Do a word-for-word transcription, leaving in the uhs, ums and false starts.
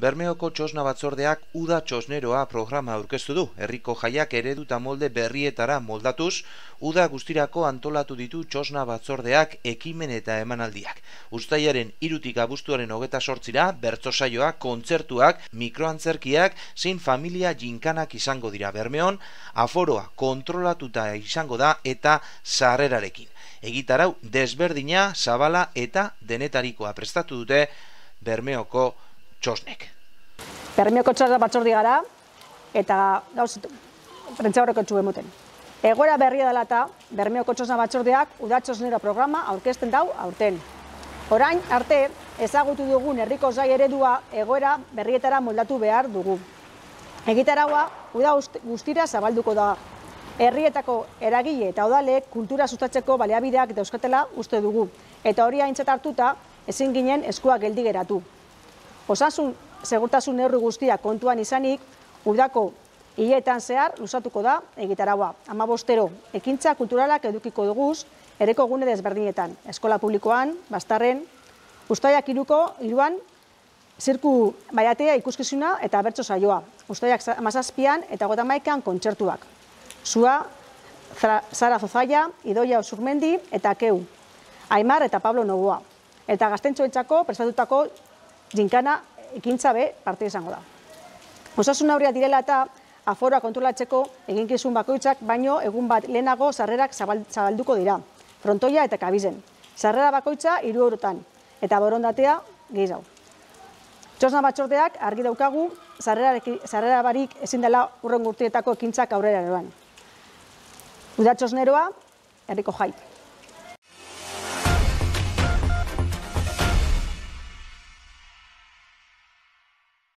Bermeoko Txosna Batzordeak Uda Txosneroa programa aurkeztu du. Herriko jaiak eredu eta molde berrietara moldatuz, uda guztirako antolatu ditu Txosna Batzordeak ekimen eta emanaldiak. Uztailaren hirutik abuztuaren hogeta sortzira, bertso saioak, kontzertuak, mikroantzerkiak, zein familia jinkanak izango dira. Bermeon, aforoa kontrolatuta izango da eta sarrerarekin. Egitarau desberdina, zabala eta denetarikoa prestatu dute Bermeoko Txosnek. Bermeoko Txosna Batzorde gara eta gauz prentza horreko txu emuten. Egoera berria dela eta Bermeoko Txosna Batzordeak Uda Txosnero programa aurkezten dau aurten. Orain arte ezagutu dugun herriko zai eredua egoera berrietara moldatu behar dugu. Egitaraua uda guztira zabalduko da. Herrietako eragile eta udalek kultura sustatzeko baliabideak dauzkatela uste dugu. Eta hori aintzat hartuta ezin ginen eskua geldi geratu. Osasun segurtasun neurri guztiak kontuan izanik, udako hileetan zehar luzatuko da egitaraua. Hamabostero ekintza kulturalak edukiko duguz herriko gune desberdinetan. Eskola publikoan, Bastarren, Uztailak hiruko hiruan zirku baiatea ikuskizuna eta bertso saioa. Uztailak hamazazpian eta hogeita hamaikan kontzertuak. Zua, Zara Zozaia, Idoia Osurmendi eta Keu. Aimar eta Pablo Novoa. Eta gaztentxoentzako prestatutako jinkana ekintza be parte izango da. Osasun neurriak direla eta aforoa kontrolatzeko eginkizun bakoitzak baino egun bat lehenago sarrerak zabalduko dira. Frontoia eta kabizen. Sarrera bakoitza hiru eurotan eta borondatea gehiago. Txosna Batzordeak argi daukagu sarrera barik ezin dela hurrengo urteetako ekintzak aurrera eroan. Uda Txosneroa, herriko jai.